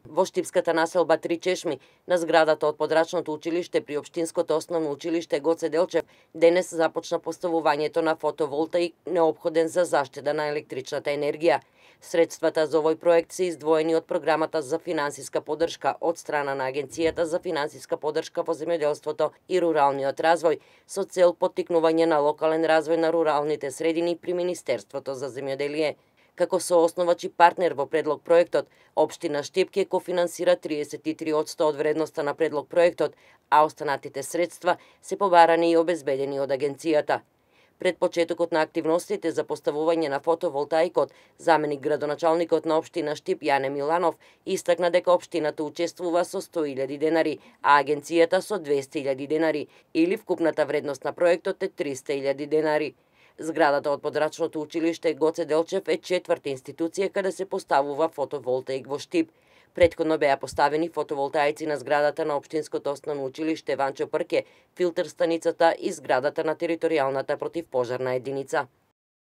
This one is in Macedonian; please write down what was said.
Во Штипската населба Три Чешми, на зградата од подрачното училиште при Општинското основно училиште Гоце Делчев, денес започна поставувањето на фотоволтаик неопходен за заштеда на електричната енергија. Средствата за овој проект се издвоени од програмата за финансиска поддршка од страна на Агенцијата за финансиска поддршка во земјоделството и руралниот развој, со цел поттикнување на локален развој на руралните средини при Министерството за земјоделие. Како соосновач и партнер во предлог проектот, Општина Штип ќе кофинансира 33% од вредноста на предлог проектот, а останатите средства се побарани и обезбедени од агенцијата. Пред почетокот на активностите за поставување на фотоволтаикот, заменик градоначалникот на Општина Штип Јане Миланов истакна дека општината учествува со 100.000 денари, а агенцијата со 200.000 денари, или вкупната вредност на проектот е 300.000 денари. Зградата од подрачното училиште Гоце Делчев е четврта институција каде се поставува фотоволтаик во Штип. Претходно беа поставени фотоволтаици на зградата на Општинското основно училиште Ванчо Прке, филтер станицата и зградата на територијалната противпожарна единица.